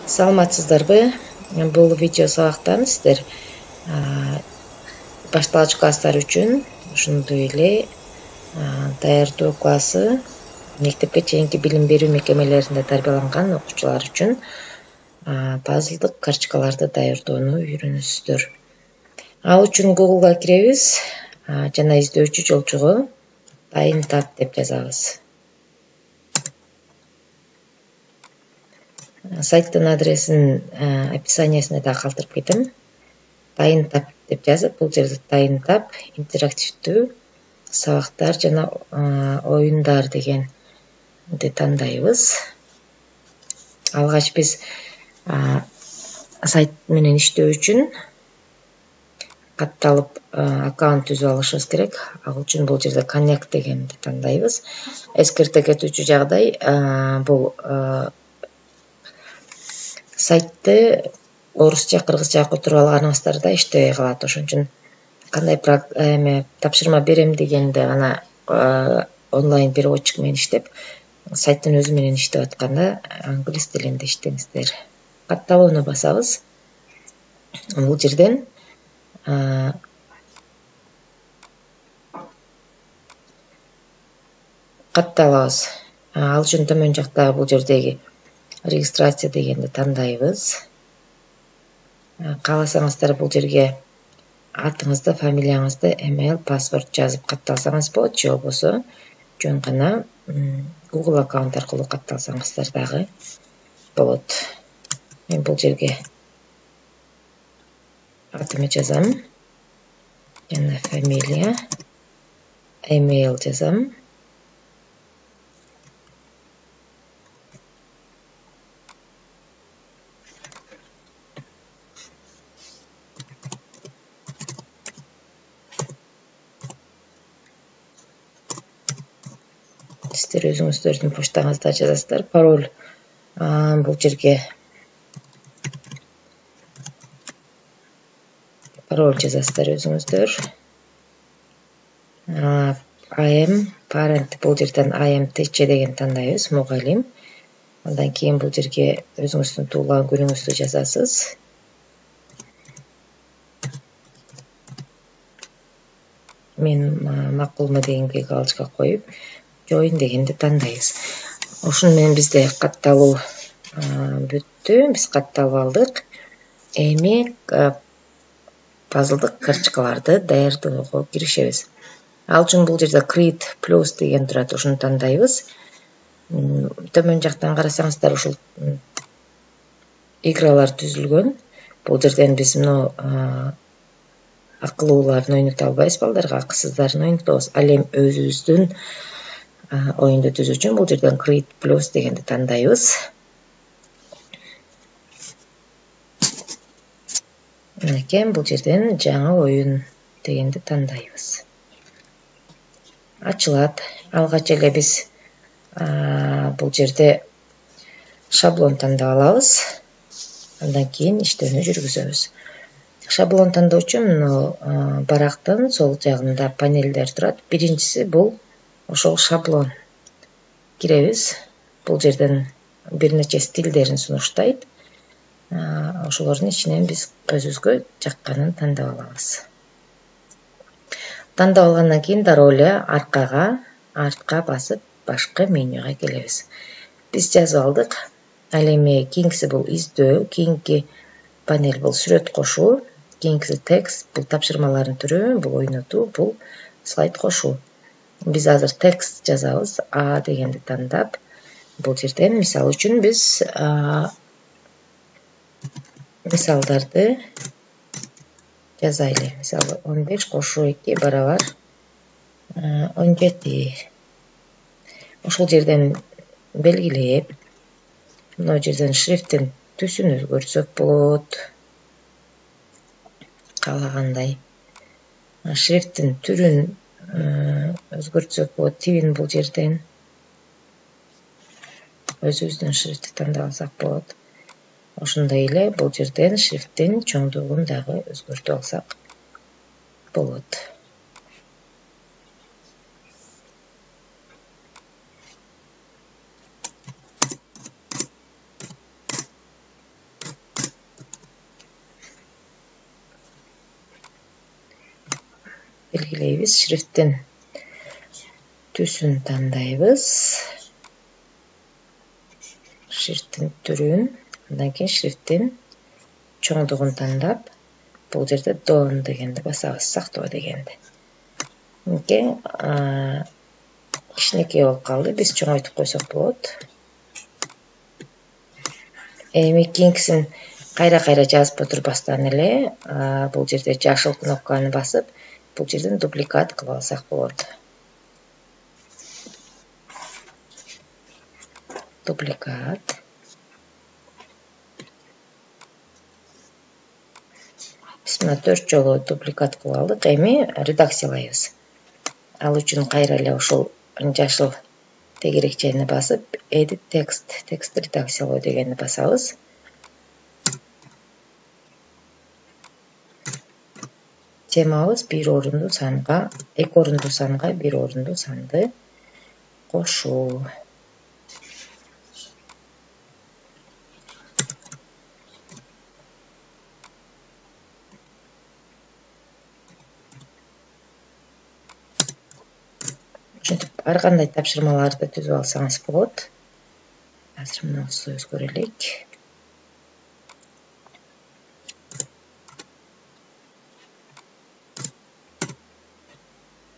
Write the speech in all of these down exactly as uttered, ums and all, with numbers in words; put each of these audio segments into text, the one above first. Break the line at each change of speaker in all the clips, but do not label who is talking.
Саламатсыздарбы? Бул видео сабактан сиздер башталгыч класстар үчүн ошондой эле даярдоо классы, мектепке чейинки билим берүү мекемелеринде тарбияланган окуучулар үчүн пазлдык карточкаларды даярдоону үйрөнөсүздөр. Ал үчүн Google'га киребиз жана издөөчү жолчугу дайын тап деп жазабыз. Сайттын адресин описаниясына да калтырып кетем. Дайын тап деп жазып, бул жерде дайын тап, интерактивдүү сабактар жана оюндар дегенди тандайбыз. Алгач биз сайт менен иштөө үчүн катталып аккаунт түзүп алышыбыз керек. Ал үчүн бул жерде Connect дегенди тандайбыз. Эскерте кетүүчү жагдай, бул сайтты орусча, кыргызча которуп алганыбыздарда иштебей калат. Ошон үчүн кандай эме тапшырма берем дегенде гана онлайн переводчик менен иштеп, сайттын өзү менен иштеп атканда англис тилинде иштеңиздер. Катталууну басабыз. Бул жерден катталабыз. Ал үчүн төмөн жактагы бул жердеги регистрация дегенди тандайбыз. Кааласаңыздар бул жерге атыңызды, фамилияңызды, email, паспорт жазып катталсаңыз болот, же болбосо жөн гана Google аккаунт аркылуу катталсаңыздар дагы болот. Мен бул жерге атымды жазам, жана фамилия, email жазам. Сиздер өзүңүздөрдүн почтаңызда жазасыздар. Пароль бул жерге пароль жазасыздар өзүңүздөр. I am parent, бул жерден I am teacher деген тандайбыз, мугалим. Андан кийин бул жерге өзүңүздүн туулган күнүңүздү жазасыз. Мен макулму дегенге галочка коюп, join дегенди тандайбыз. Ошону менен бизде катталуу бүттү. Биз катталып алдык. Эми пазлдык карточкаларды даярдоого киришебиз. Ал үчүн бул жерде Create Plus деген турат, ошону тандайбыз. Төмөн жактан карасаңыздар ушул игралар түзүлгөн. Бул жерден биз мына акылууларын ойното албайбыз, балдарга акысыздарын ойнотобуз. Ал эми өзүбүздүн оюнду түзүү үчүн бул жерден Create Plus дегенди тандайбыз. Мынакей бул жерден жаңы оюн дегенди тандайбыз. Ачылат. Алгач эле биз бул жерде шаблон тандап алабыз. Андан кийин иштөөнү жүргүзөбүз. Шаблон тандоо үчүн барактын сол жагында панелдер турат. Биринчиси бул ошол шаблон. Киребиз. Бул жерден бир нече стилдерин сунуштайт. Ошолордун ичинен биз өзүбүзгө жакканын тандап алабыз. Тандап алгандан кийин дароо эле аркага, артка басып, башкы менюга келебиз. Биз жазып алдык. Ал эми кийинкиси бул издөө, кийинки панель бул сүрөт кошуу, кийинкиси текст, бул тапшырмалардын түрү, бул ойнотуу, бул слайд кошуу. Биз азыр текст жазабыз. А дегенди тандап, бул жерден мисал үчүн биз мисалдарды жазайлы. Мисалы он беш кошуу эки барабар он жети. Ошол жерден белгилеп, мына жерден шрифттин түсүн өзгөртсөк болот. Каалагандай. Шрифттин түрүн өзгөртсөк болот. Тибин бул жерден өзүбүздүн шрифтти тандап алсак болот. Ошондой эле бул жерден шрифттин чоңдугун дагы өзгөртүп алсак болот. белгилейбиз. Шрифттин түсүн тандайбыз. Шрифттин түрүн, андан кийин шрифттин чоңдугун тандап, бул жерде done дегенди басабыз, сактоо дегенди. Мынке кичинекей болуп калды, биз чоңойтуп койсок болот. Эми кийинкисин кайра-кайра жазып отурбастан эле, бул жерде жашыл кнопканы басып, бул жерден дубликат кылып алсак болот. Дубликат. Биз мына төрт жолу дубликат кылып алдык. Эми редакциялайбыз. Ал үчүн кайра эле ушул жашыл тегерекчени басып, edit text, текст редакциялоо дегенди басабыз. Темабыз бир орунду санга, эки орунду санга бир орунду санды кошуу. Ушинтип ар кандай тапшырмаларды түзүп алсаңыз болот. Азыр мынабызды өзгөрөлүк.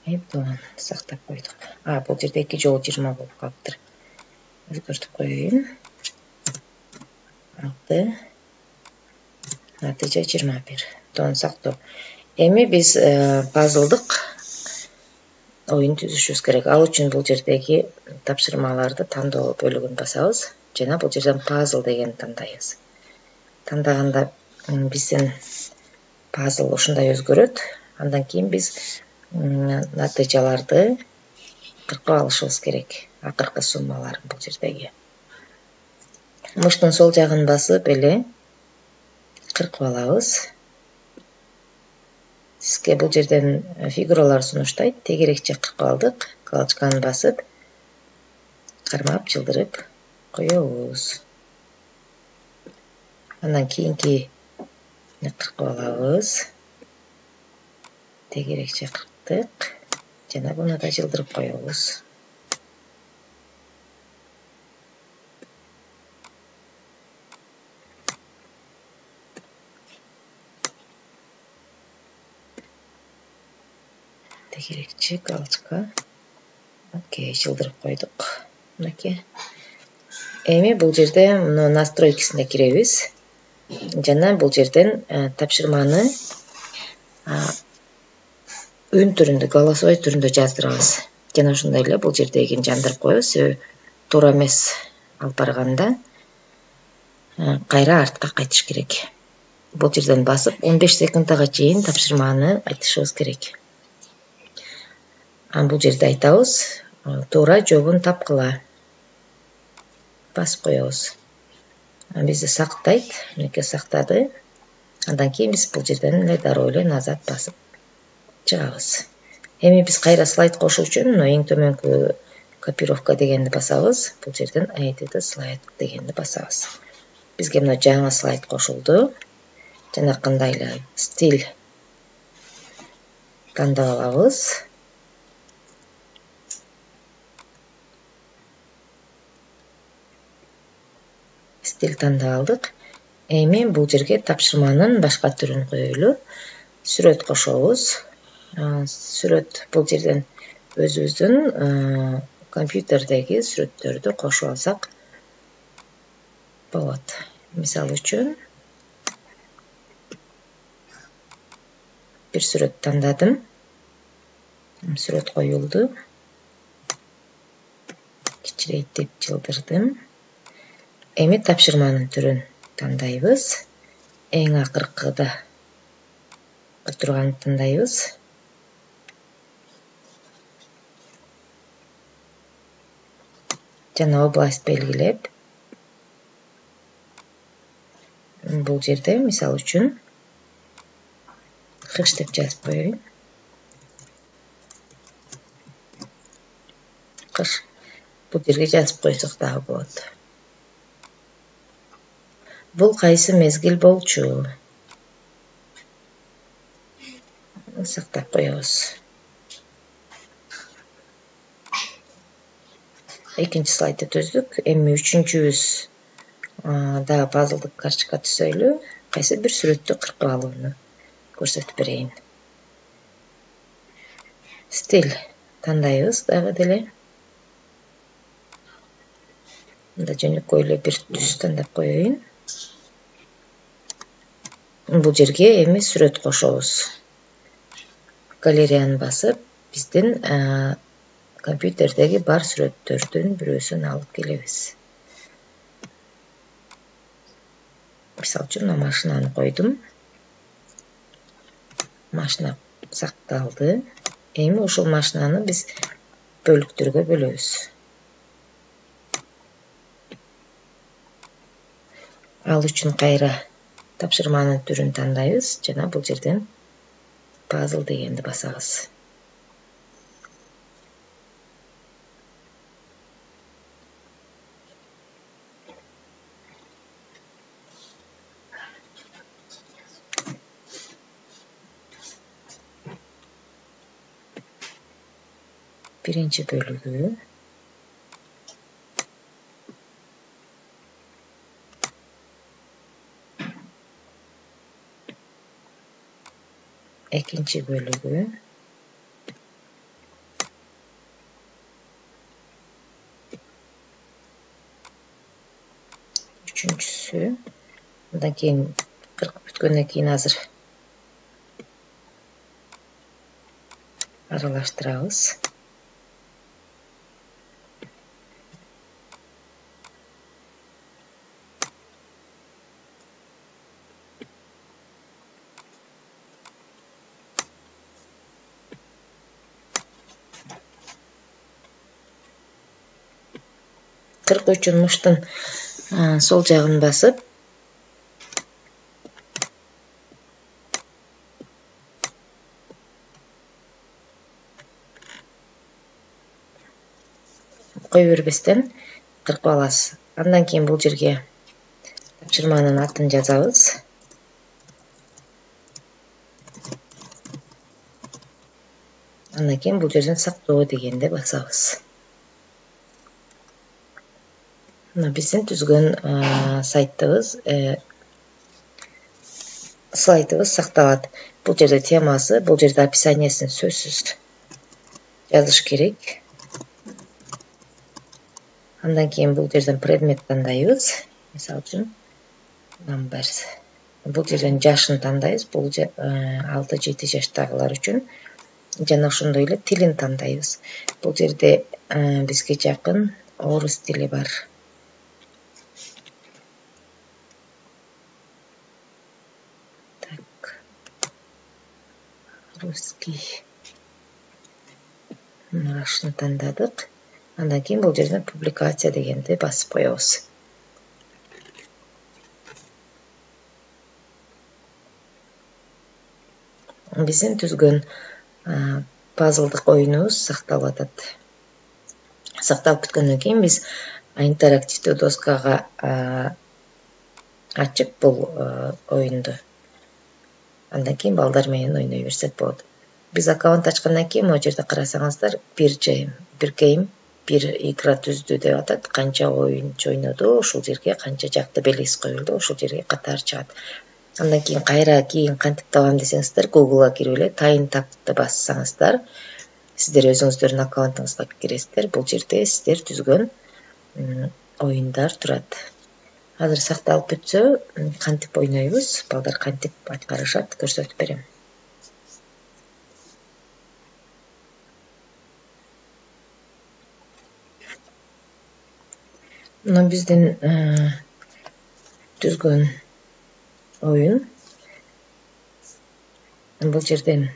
Эбдон сактап койдук. А, бул жерде эки жолу жыйырма болуп калыптыр. Өзгөртүп коеюн. Алты. Натыйжа жыйырма бир. Дон сактоо. Эми биз пазлдык оюн түзүшүбүз керек. Ал үчүн бул жердеги тапшырмаларды тандоо бөлүгүн басабыз жана бул жерден puzzle дегенди тандайбыз. Тандаганда биздин пазл ушундай өзгөрөт. Андан кийин биз натыйжаларды кыркып алышыбыз керек. Акыркы суммаларын бул жердеги. Мыштын сол жагын басып эле кыркып алабыз. Сизге бул жерден фигуралар сунуштайт. Тегерекче кыркып алдык. Галочканы басып, кармап, жылдырып коебуз. Андан кийинки кыркып алабыз. Тегерекче кырктык. Жана буну да жылдырып коебуз. Тегерекче галочка. Окей, жылдырып койдук. Мынакей. Эми бул жерде мына настройкасына киребиз. Жана бул жерден тапшырманы үн түрүндө, голосовой түрүндө жаздырабыз. Жана ошондой эле бул жердегини жандырып коебуз. Себеби туура эмес алып барганда кайра артка кайтыш керек. Бул жерден басып он беш секундага чейин тапшырманы айтышыбыз керек. Бул жерде айтабыз, туура жообун тапкыла. Басып коебуз. Бизди сактайт, мынакей сактады. Андан кийин биз бул жерден эле дароо эле назад басып чыгабыз. Эми биз кайра слайд кошуу үчүн эң төмөнкү копировка дегенди басабыз. Бул жерден edit slide дегенди басабыз. Бизге мына жаңы слайд кошулду. Жана кандай эле стиль тандап алабыз. Стиль тандап алдык. Эми бул жерге тапшырманын башка түрүн коелу. Сүрөт кошобуз. Сүрөт бул жерден өзүбүздүн компьютердеги сүрөттөрдү кошуп алсак болот. Мисал үчүн бир сүрөт тандадым. Сүрөт коюлду. Кичирейт жылдырдым. Эми тапшырманын түрүн тандайбыз. Эң акыркыда турганды тандайбыз. Жана область белгилеп, бул жерде мисал үчүн кыш деп жазып коеюн. Кыш. Бул жерге жазып койсок дагы болот. Бул кайсы мезгил болчу? Сактап коебуз. экинчи слайдты түздүк. Эми үчүнчүбүз да пазлдык карточка түзөйлү. Кайсы бир сүрөттү кыркып алууну көрсөтүп берейин. Стиль тандайбыз дагы деле. Мында жөнөкөй эле бир түс тандап коеюн. Бул жерге эми сүрөт кошобуз. Галереяны басып, биздин компьютердеги бар сүрөттөрдүн бирөөсүн алып келебиз. Мисалы үчүн машинаны койдум. Машина сакталды. Эми ушул машинаны биз бөлүктөргө бөлөбүз. Ал үчүн кайра тапшырманын түрүн тандайбыз жана бул жерден пазл дегенди басабыз. Биринчи бөлүгү, экинчи бөлүгү, үчүнчүсү, андан кийин кыркып бүткөндөн кийин азыр аралаштырабыз. Кыркуу үчүн муштун сол жагын басып, кое бербестен кыркып аласыз. Андан кийин бул жерге тапшырманын атын жазабыз. Андан кийин бул жерден сактоо дегенди басабыз. Мына биздин түзгөн сайттыбыз, слайдыбыз сакталат. Бул жерде темасы, бул жерде описаниясын сөзсүз жазыш керек. Андан кийин бул жерден предмет тандайбыз. Мисалы үчүн numbers. Бул жерден жашын тандайбыз. Бул алты жети жаштагылар үчүн. Жана ошондой эле тилин тандайбыз. Бул жерде бизге жакын орус тили бар. Так. Русский. Мынашын тандадык. Андан кийин бул жерден публикация дегенди басып коебуз. Биздин түзгөн пазлдык оюнубуз сакталып атат. Сакталып бүткөндөн кийин биз интерактивдүү доскага ачып бул оюнду. Андан кийин балдар менен ойной берсек болот. Биз аккаунт ачкандан кийин могу жерде карасаңыздар, бир жайым, бир гейм, бир игра түздү деп атат. Канча оюнчу ойноду, ошол жерге канча жакты белгиси коюлду, ошол жерге катар чыгат. Андан кийин кайра кийин кантип табам десеңиздер, Google'га кирип эле тайын тапты бассаңыздар, сиздер өзүңүздөрдүн аккаунтуңузга киресиздер. Бул жерде сиздер түзгөн оюндар турат. Азыр сакталып бүтсө, кантип ойнойбуз, балдар кантип аткарышат көрсөтүп берем. Мына биздин түзгөн оюн. Бул жерден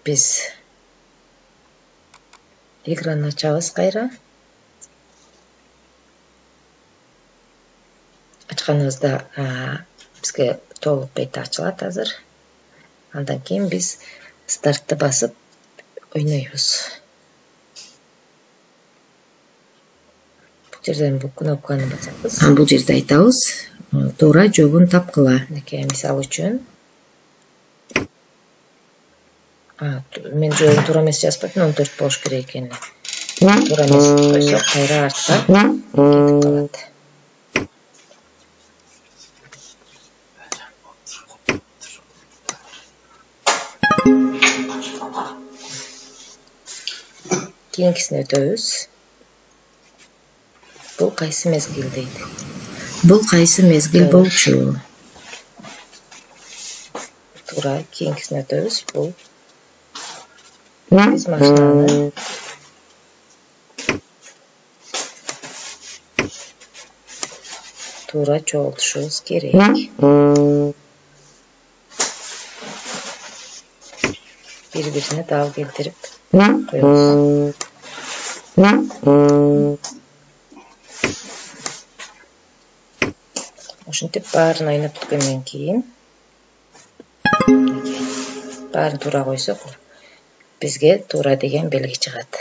биз играны ачабыз кайра. Ачканыбызда бизге толук бет ачылат азыр. Андан кийин биз стартты басып ойнойбуз. Бул жерден бул кнопканы басабыз. Бул жерде айтабыз, туура жообун тапкыла. Мисалы үчүн мен жолун туура эмес жазбадым, он төрт болуш керек экени. Туура эмес койсок, кайра артка кетип калат. Кийинкисине өтөбүз. Бул кайсы мезгил дейт?
Бул кайсы мезгил болчу?
Туура, кийинкисине өтөбүз. Бул биз машинаны туура чогултушубуз керек. Бири-бирине дал келтирип коебуз. Ушинтип баарын ойноп бүткөндөн кийин баарын туура койсок, бизге туура деген белги чыгат.